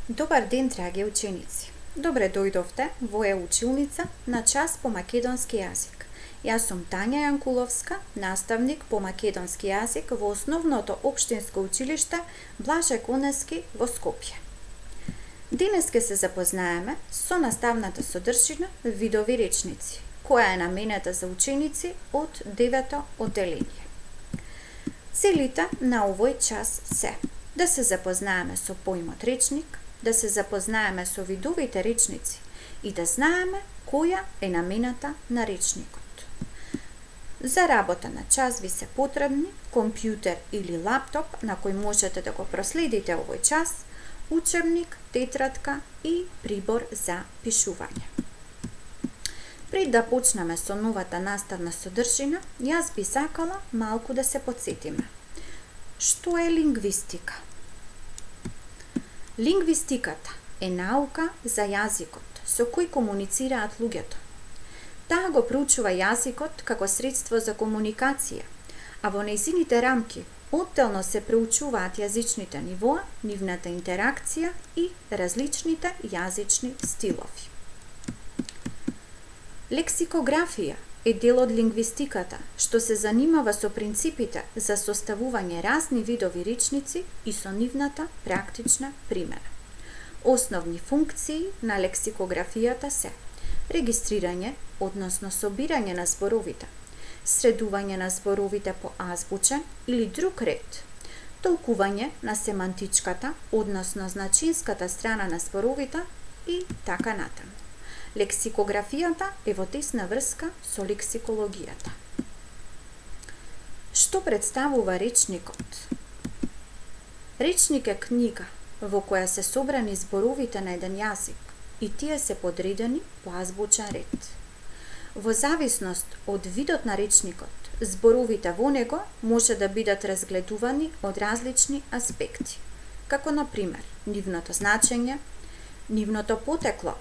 Добар ден, драги ученици! Добре дојдовте во училница на час по македонски јазик. Јас сум Тања Јанкуловска, наставник по македонски јазик во Основното општинско училиште Блаже Конески во Скопје. Денес ќе се запознаеме со наставната содржина видови речници, која е наменета за ученици од 9-то одделение. Целите на овој час се да се запознаеме со поимот речник, да се запознаеме со видовите речници и да знаеме која е намената на речникот. За работа на час ви се потребни компјутер или лаптоп на кој можете да го проследите овој час, учебник, тетрадка и прибор за пишување. Пред да почнеме со новата наставна содржина, јас би сакала малку да се потсетиме. Што е лингвистика? Лингвистиката е наука за јазикот со кој комуницираат луѓето. Таа го проучува јазикот како средство за комуникација, а во нејзините рамки одделно се проучуваат јазичните нивоа, нивната интеракција и различните јазични стилови. Лексикографија е дел од лингвистиката, што се занимава со принципите за составување разни видови речници и со нивната практична примена. Основни функции на лексикографијата се регистрирање, односно собирање на зборовите, средување на зборовите по азбучен или друг ред, толкување на семантичката, односно значинската страна на зборовите и така натаму. Лексикографијата е во тесна врска со лексикологијата. Што представува речникот? Речник е книга во која се собрани зборовите на еден јазик и тие се подредени по азбучен ред. Во зависност од видот на речникот, зборовите во него може да бидат разгледувани од различни аспекти, како на пример нивното значење, нивното потекло,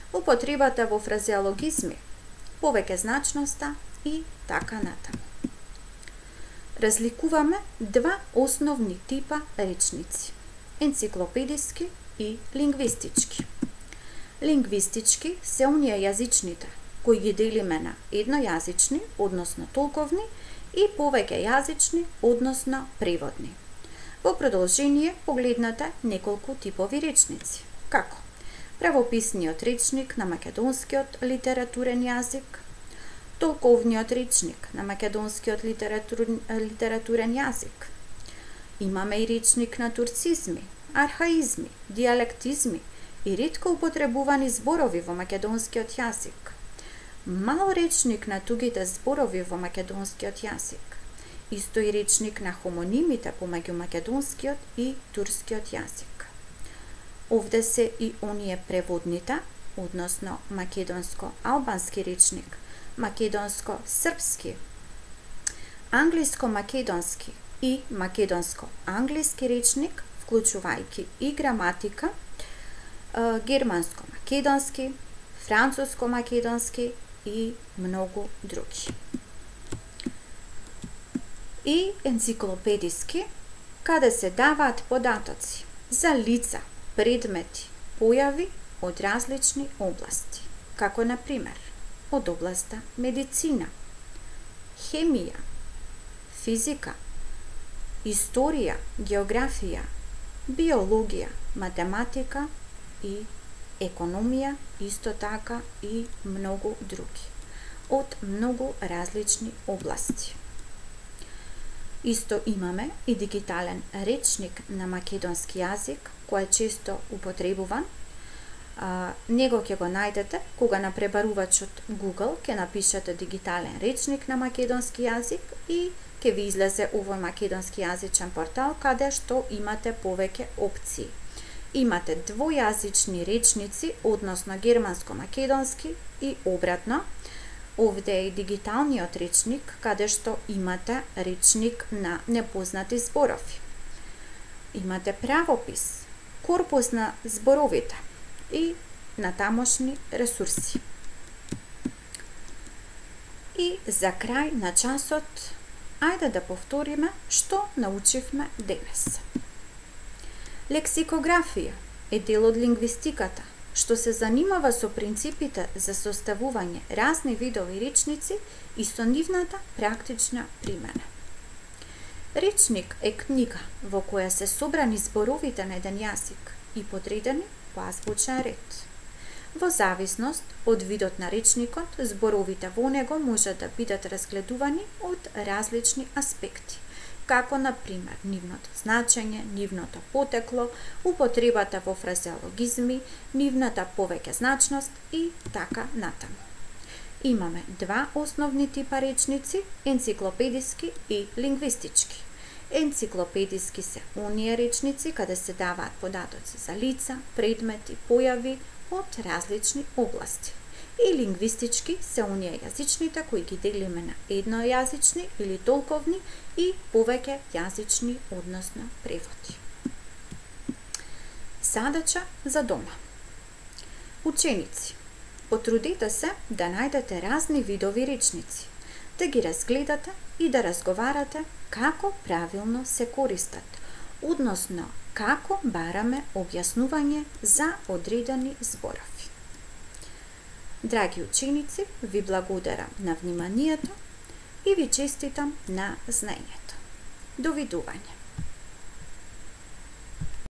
употребата во фразеологизми, повеќе значноста и така натаму. Разликуваме два основни типа речници: енциклопедиски и лингвистички. Лингвистички се оние јазичните кои ги делиме на еднојазични, односно толковни, и повеќе јазични, односно преводни. Во продолжение погледнете неколку типови речници, како правописниот речник на македонскиот литературен јазик, толковниот речник на македонскиот литературен јазик. Имаме и речник на турцизми, архаизми, диалектизми и ретко употребувани зборови во македонскиот јазик. Мал речник на тугите зборови во македонскиот јазик. Исто и речник на хомонимите помеѓу македонскиот и турскиот јазик. Овде се и оние преводните, односно македонско-албански речник, македонско-српски, англиско-македонски и македонско-англиски речник, вклучувајќи и граматика, германско-македонски, француско-македонски и многу други. И енциклопедиски, каде се даваат податоци за лица, предмети, појави од различни области, како на пример од областа медицина, хемија, физика, историја, географија, биологија, математика и економија, исто така и многу други, од многу различни области. Исто имаме и дигитален речник на македонски јазик, кој е често употребуван. Него ќе го најдете кога на пребарувачот Google ќе напишете дигитален речник на македонски јазик и ќе ви излезе овој македонски јазичен портал каде што имате повеќе опции. Имате двојазични речници, односно германско-македонски и обратно. Овде е и дигиталниот речник, каде што имате речник на непознати зборови. Имате правопис, корпус на зборовите и натамошни ресурси. И за крај на часот, ајде да повториме што научивме денес. Лексикографија е дел од лингвистиката, што се занимава со принципите за составување разни видови речници и со нивната практична примена. Речник е книга во која се собрани зборовите на еден јазик и подредени по азбучен ред. Во зависност од видот на речникот, зборовите во него може да бидат разгледувани од различни аспекти, како на пример нивното значење, нивното потекло, употребата во фразеологизми, нивната повеќе значност и така натаму. Имаме два основни типа речници, енциклопедиски и лингвистички. Енциклопедиски се оние речници каде се даваат податоци за лица, предмети, појави од различни области. И лингвистички се оние јазичните кои ги делиме на еднојазични или толковни и повеќе јазични, односно преводи. Задача за дома. Ученици, потрудете се да најдете разни видови речници, да ги разгледате и да разговарате како правилно се користат, односно како бараме објаснување за одредени зборови. Драги ученици, ви благодарам на вниманието и ви честитам на знаењето. Довидување!